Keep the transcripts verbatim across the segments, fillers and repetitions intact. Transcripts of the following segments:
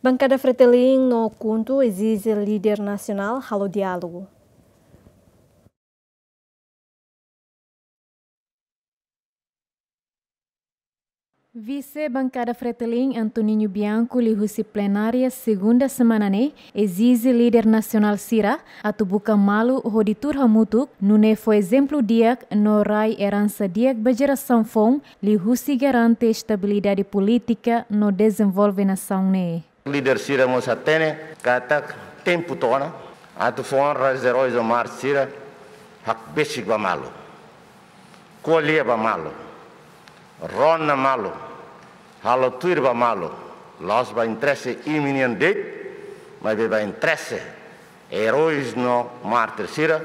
Bankada Fretilin no KHUNTO ezije líder nasionál halo diálogu. Vise Bankada Fretilin Antoninho Bianco liuhusi plenária segunda semana ne'e ezije líder nasionál sira atu buka malu hodi tuur hamutuk, nune'e fó ezemplu di'ak no rai eransa di'ak ba jerasaun foun liuhusi garante estabilidade polítika no dezenvolve nasaun ne'e. Líder sira mós hatene katak tempu to'o ona atu fó onra aos eróis no mártir sira hakbesik ba malu, ko'alia ba malu, rona malu, halo tuir ba malu, la'ós ba interese imi-nian de'it, maibé ba interese eróis no mártir sira,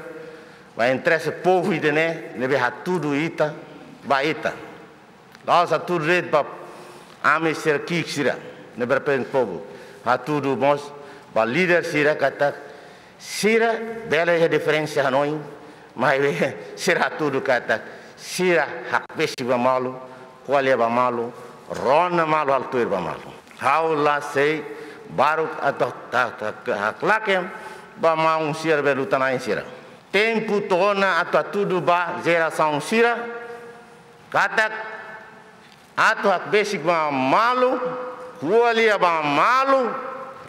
ba interese povu ida-ne'e ne'ebé hatudu ita ba ita. La'ós hatudu de'it ba ami sira ki'ik sira ne'ebé reprezenta povu. Hatudu mós ba líder sira katak sira bele iha diferensa hanoin, maibé sira hatudu katak sira hakbesik ba malu, ko'alia ba malu, rona malu, halo tuir ba malu. Ha'u la sei baruk atu ta, ta, ta, haklaken ba maun sira be luta-na'in sira. Tempu to'o ona atu hatudu ba jerasaun sira katak atu hakbesik ba malu, ko'alia ba malu,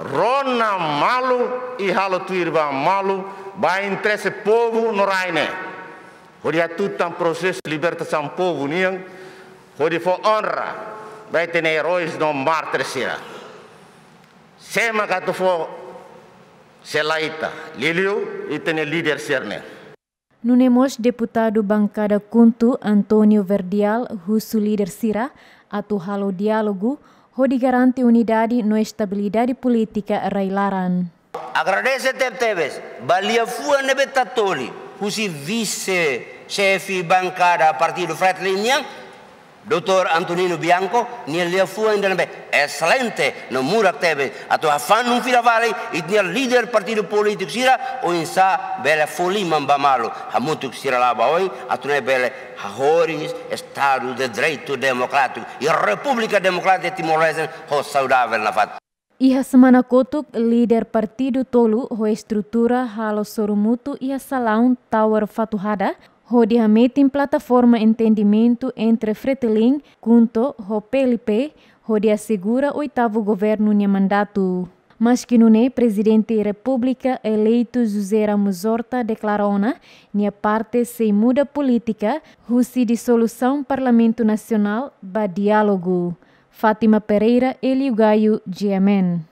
rona malu, i halo tuir ba malu, ba interese povu no rai ne'e. Hodi hatutan prosesu libertasaun povu nian, hodi fó onra ba ita-nia eróis no mártir sira. Sé mak atu fó, se la ita, liuliu ita-nia líder sira-ne'e. Nune'e mós deputadu Bankada KHUNTO António Verdial husu líder sira atu halo diálogu hodi garante unidade no estabilidade polítika rai-laran. Agradese tebetebes ba liafuan ne'ebé tatoli husi vise xefe bankada partidu Fretilin nian, doutór Antoninho Bianco, nia liafuan ida ne'ebé exelente no murak tebes atu hafanun fila fali ita-nia líder partidu polítiku sira oinsá bele fó liman ba malu hamutuk sira la'o ba oin atu nune'e bele hahoris Estadu de Direitu Demokrátiku i Repúblika Demokrátika Timor-Leste ho saudavel nafatin. Iha semana kotuk, líder partidu tolu ho estrutura halo sorumutu iha salaun Tower Fatuhada, hodi hametin plataforma entendimentu entre Fretilin, KHUNTO ho P L P, hodi asegura oitavu governu nia mandatu. Maski nune'e, Prezidente Repúblika eleitu José Ramos Horta deklara ona nia parte sei muda polítika husi disolusaun Parlamentu Nasionál ba diálogu. Fátima Pereira, Hélio Gaio, G M N.